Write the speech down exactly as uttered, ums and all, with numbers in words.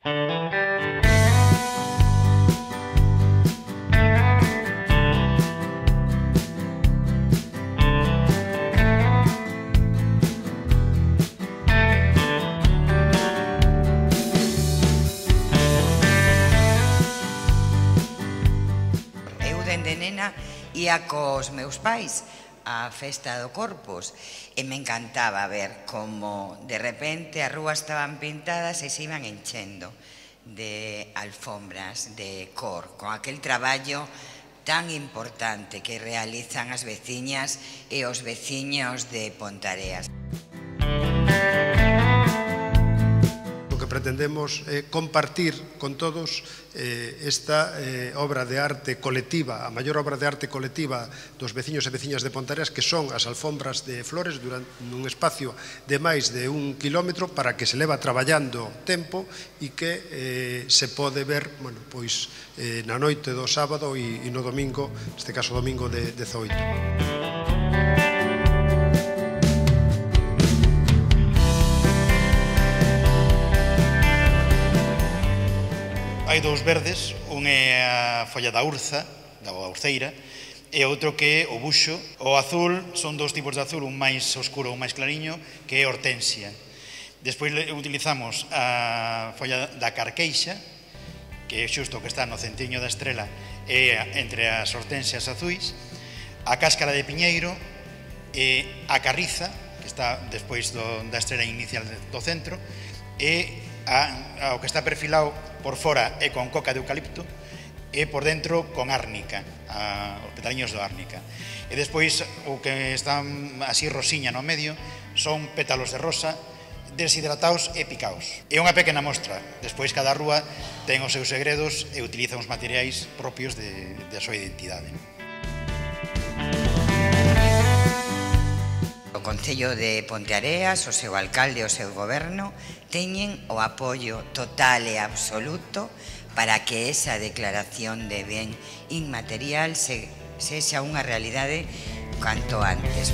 De nena ia cos meus pais á festa do Corpus e me encantaba ver como de repente as rúas estaban pintadas e se iban enchendo de alfombras de cor, con aquel traballo tan importante que realizan as veciñas e os veciños de Ponteareas. O que pretendemos é compartir con todos esta obra de arte colectiva, a maior obra de arte colectiva dos veciños e veciñas de Ponteareas, que son as alfombras de flores durante un espacio de máis de un kilómetro para que se leva traballando tempo e que se pode ver na noite do sábado e no domingo, neste caso domingo de dezaoito. Hai dous verdes, un é a folla da urza, da urceira, e outro que é o buxo. O azul son dous tipos de azul, un máis oscuro e un máis clariño, que é hortensia. Despois utilizamos a folla da carqueixa, que é xusto o que está no centriño da estrela, e entre as hortensias azuis, a cáscara de piñeiro, e a carriza, que está despois da estrela inicial do centro, e o que está perfilado por fora é con coca de eucalipto e por dentro con árnica, os petaliños do árnica. E despois o que está así rosiña no medio son pétalos de rosa deshidratados e picaos. É unha pequena mostra, despois cada rúa ten os seus segredos e utiliza uns materiais propios da súa identidade. O Concello de Ponteareas, o seu alcalde e o seu goberno teñen o apoio total e absoluto para que esa declaración de ben inmaterial sexa unha realidade canto antes.